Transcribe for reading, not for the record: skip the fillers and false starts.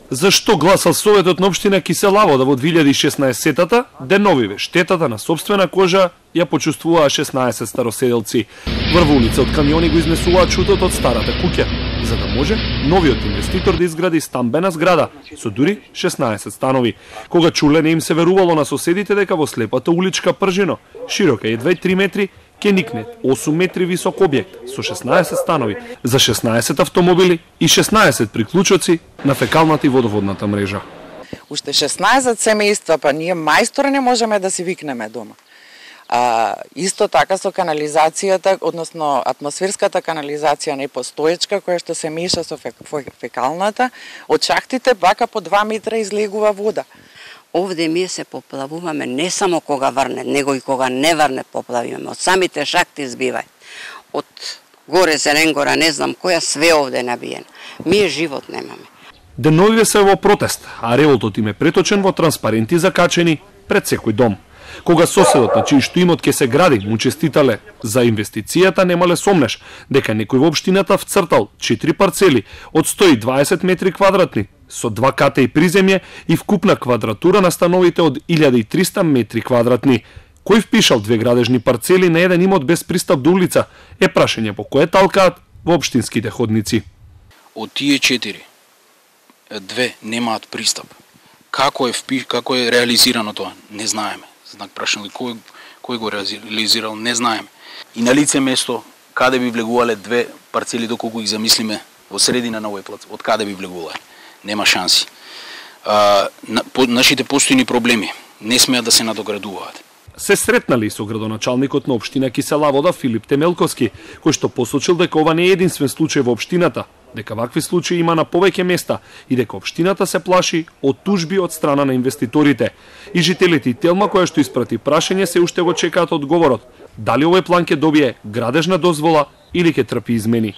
Зашто гласал Советот на општина Киселавода во 2016-та, деновиве штетата на сопствена кожа ја почувствуваа 16 староседелци. Врв улица од камиони го изнесуваа чутот од старата куќа, за да може новиот инвеститор да изгради стамбена зграда со дури 16 станови. Кога чуле не им се верувало на соседите дека во слепата уличка Пржино, широка едва 3 метри, ке никне 8 метри висок објект со 16 станови за 16 автомобили и 16 приклучоци на фекалната и водоводната мрежа. Уште 16 семејства, па ние мајстори не можеме да си викнеме дома. Исто така со канализацијата, односно атмосферската канализација непостоечка, која што се меша со фекалната, од шахтите бака по 2 метра излегува вода. Овде ние се поплавуваме не само кога врне, него и кога не врне поплавиме. Од самите шахти избивај. Од горе Зеленгора, не знам која, све овде набиено. Ние живот немаме. Деновиве се во протест, а револтот им е преточен во транспаренти закачени пред секој дом. Кога соседот на чиј што имот ке се гради му честитале за инвестицијата, немале сомнеш дека некој во општината вцртал 4 парцели од 120 метри квадратни со 2 ката и приземје и вкупна квадратура на становите од 1300 метри квадратни. Кој впишал 2 градежни парцели на еден имот без пристап до улица е прашање по кое талкаат во општинските ходници. Од тие 4, 2 немаат пристап. Како е реализирано тоа? Не знаеме. Знак прашање кој го реализирал, не знаеме. И на лице место каде би влегувале 2 парцели доколку ги замислиме во средина на овој плац, од каде би влегувале? Нема шанси. Нашите постојни проблеми не смеат да се надоградуваат. Се сретнали со градоначалникот на општина Киселавода Филип Темелковски, кој што посочил дека ова не е единствен случај во општината, дека вакви случаи има на повеќе места и дека општината се плаши од тужби од страна на инвеститорите. И жителите и Телма која што испрати прашање се уште го чекаат одговорот, дали овој план ќе добие градежна дозвола или ќе трпи измени.